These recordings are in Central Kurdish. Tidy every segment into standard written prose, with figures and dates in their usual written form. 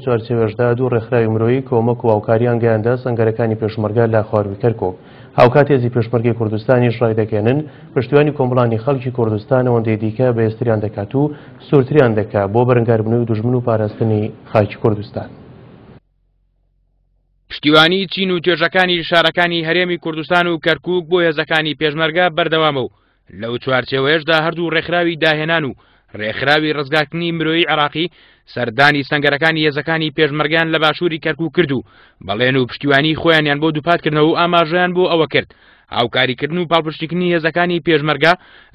چوارچێوەشدا دوو ڕێکخراوی مرۆیی کۆمەک و هاوکاریان گەیاندە سەنگەرەکانی پێشمەرگە لە خوارووی کەرکوک. هاوکات هێزی پێشمەرگەی کوردستانیش ڕایدەگەیەنن، پشتیوانی کۆمەڵانی خەڵکی کوردستان ئەوەندەی دیکە بەهێزتریان دەکات و سوورتریان دەکا بۆ بەرەنگاربوونەوەی دوژمن و پاراستنی خاکی کوردستان. پشتیوانی چین و توێژەکانی شارەکانی هەرێمی کوردستان و کەرکوک بۆ هێزەکانی پێشمەرگە بەردەوامە و لەو چوارچێوەیەشدا هەردوو ڕێکخراوی داهێنان و ڕێکخراوی ڕزگارکردنی مرۆیی عێراقی سەردانی سەنگەرەکانی هێزەکانی پێشمەرگەیان لە باشووری کەرکوک کرد و بەڵێن و پشتیوانی خۆیانیان بۆ دووپاتکردنەوە و ئاماژەیان بۆ ئەوە کرد هاوکاریکردن و پاڵپشتیکردنی هێزەکانی پێشمەرگە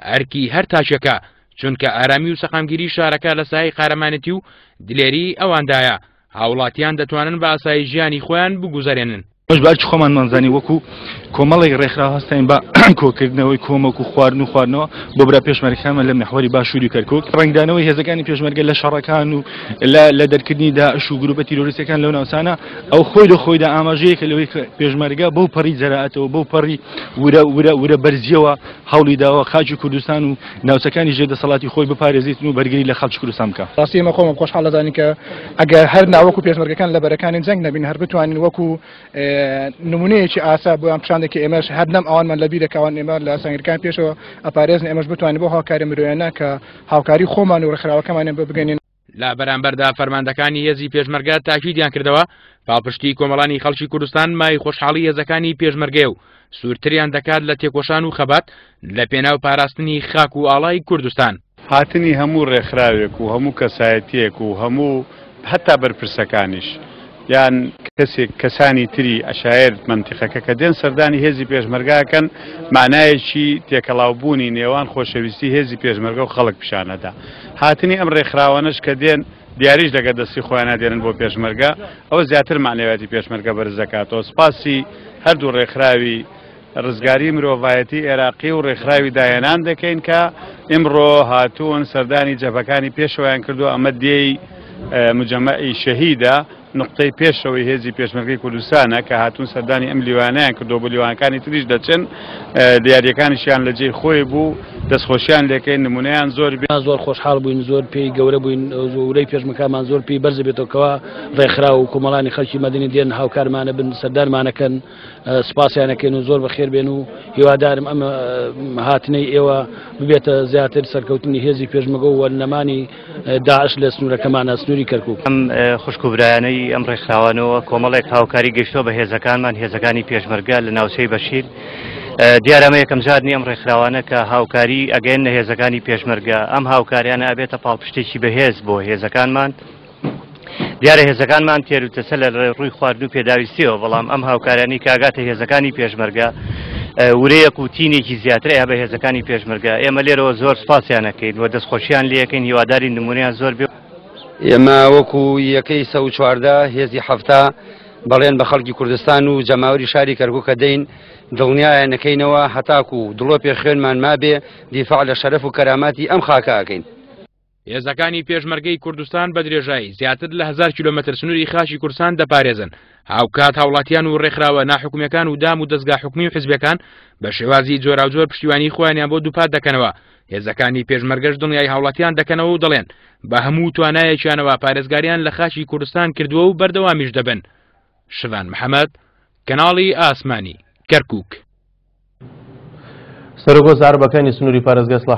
ئەرکی هەر تاکێکە، چونکە ئارامی و سەقامگیری شارەکە لە سایەی قارەمانێتی و دلێری ئەواندایە، هاوڵاتیان دەتوانن بە ئاسایی ژیانی خۆیان بگوزەرێنن. ئێمەش بە ئەرکی خۆمانمان زانی وەکو کۆمەڵێک ڕێکخراو هەستاین بە کۆکردنەوەی کۆمەک و خواردن و خواردنەوە بۆ برا پێشمەرگەکانمان لە میحوەری باشووری کەرکوک. ڕەنگدانەوەی هێزەکانی پێشمەرگە لە شەڕەکان و لە دەرکردنی داعش و گروپە تیرۆریستەکان لەو ناوچانە ئەو خۆی لە خۆیدا ئاماژەیەکە لەوەی کە پێشمەرگە بەو پەڕی جەرائەتەوە بەو پەڕی ورە ورە ورە بەرزیەوە هەوڵی داوە خاکی کوردستان و ناوچەکانی ژێر دەسەڵاتی خۆی بپارێزیتن و بەرگری لە خەڵکی کوردستان بکا. ڕاستی ئێمە خۆمان خۆشحاڵ دەزانین کە ئەگەر هەر نا وەکو پێشمەرگەکان لە بەرەکانی جەنگ نەبین هەر بتوانین وەکو نمونەیەکی ئاسا بۆیان پیشان دەین کە ئێمەش هەر نەم ئەوانمان لە بیرە کە ئەوان ئێمە لە سەنگەرەکانی پێشەوە ئەپارێزن ئێمەش بتوانین بۆ هاوکاری مرۆیانە کە هاوکاری خۆمان و ڕێکخراوەکەمانیان بۆ بگەنین. لە بەرامبەردا فەرماندەکانی هێزی پێشمەرگە تاکیدیان کردەوە پاڵپشتی کۆمەڵانی خەڵکی کوردستان مای خۆشحاڵی هێزەکانی پێشمەرگەیە و سوورتریان دەکات لە تێکۆشان و خەبات لە پێناو پاراستنی خاک و ئاڵای کوردستان. هاتنی هەموو ڕێکخراوێک و هەموو کەسایەتییەک و هەموو هەتا بەرپرسەکانیش یان کەسێک کەسانی تری عەشایەر مەنتیقەکە کە دێن سەردانی هێزی پێشمەرگە ئەکەن مانایەکی تێکەڵاوبوونی نێوان خۆشەویستی هێزی پێشمەرگە و خەڵک پیشان ئەدا. هاتنی ئەم ڕێکخراوانەش کە دێن دیاریش لەگەر دەستی خۆیانا دێنن بۆ پێشمەرگە ئەوە زیاتر مەعنەویاتی پێشمەرگە بەرز دەکاتەوە. سپاسی هەردوو ڕێکخراوی ڕزگاری مرۆڤایەتی ئێراقی و ڕێکخراوی داهێنان دەکەین کە ئیمڕۆ هاتوون سەردانی جەبهەکانی پێشەوەیان کردووە، ئەمە دێی مجەمەعی شەهیدە، نوقتەی پێشەوەی هێزی پێشمەرگەی کوردستانە کە هاتوون سەردانی ئەم لیوانەیان کردووە، بۆ لیوانەکانی تریش دەچن، دیارییەکانیشیان لە جێی خۆی بوو، دەستخۆشیان لێکەین، نمونەیان زۆر بێ. زۆر خۆشحاڵ بووین، زۆر پێی گەورە بووین، ورەی پێشمەرگەکانمان زۆر پێی بەرز بێتەوە کەوا ڕێکخراو و کۆمەڵانی خەڵکی مەدەنی دێن هاوکارمانە بن، سەردانمانەکەن. سپاسیان ئەکەین و زۆر بەخێر بێن و هیوادارم ئەم هاتنەی ئێوە ببێتە زیاتر سەرکەوتنی هێزی پێشمەگە و نەمانی داعش لە سنوورەکەمانە سنووری کەرکک. ئەم خوشک و برایانەی ئەم ڕێکخراوانەوە کۆمەڵێک هاوکاری گەیشتووە بە هێزەکانمان، هێزەکانی پێشمەرگە لە ناوچەی بەشیر. دیارە ئەمە یەکەم جار نییە ئەم ڕێکخراوانە کە هاوکاری ئەگەیەننە هێزەکانی پێشمەرگە، ئەم هاوکاریانە ئەبێتە پاڵپشتێکی بەهێز بۆ هێزەکانمان. دیارە هێزەکانمان تێروتەسە لە ڕووی خواردن و پێداویستیەوە، بەڵام ئەم هاوکارانی کاگاتە هێزەکانی پێشمەرگە ورەیەک و تینێکی زیاتر ئەیا بە هێزەکانی پێشمەرگە. ئێمە لێرەوە زۆر سپاسیان ئەکەین و دەستخۆشیان لێەکەین، هیواداری نمونەیان زۆر بێ. ئێمە وەکو یەکەی 114 هێزی 70 بەڵێن بە خەڵکی کوردستان و جەماوەری شاری کەرکوکە دەین دڵنیایان نەکەینەوە هەتاکو دڵۆپێ خوێنمان مابێ دیفاع لە شەرەف و کەراماتی ئەم خاکە ئەکەین. هێزەکانی پێشمەرگەی کوردستان بە درێژایی زیاتر لە 1000 کیلۆمەتر سنووری خاکی کوردستان دەپارێزن، هاوکات هاوڵاتیان و ڕێکخراوە ناحکومیەکان و دام و دەزگا حکومی و حزبیەکان بە شێوازی جۆراوجۆر پشتیوانی خۆیانیان بۆ دووپات دەکەنەوە. هێزەکانی پێشمەرگەش دڵنیای هاوڵاتیان دەکەنەوە و دەڵێن بە هەموو توانایەکیانەوە پارێزگاریان لە خاکی کوردستان کردووە و بەردەوامیش دەبن. شڤان محەمەد، کەناڵی ئاسمانی، کەرکوک. سەرۆک وەزارەبەکانی سنووری پارێزگای سڵاح.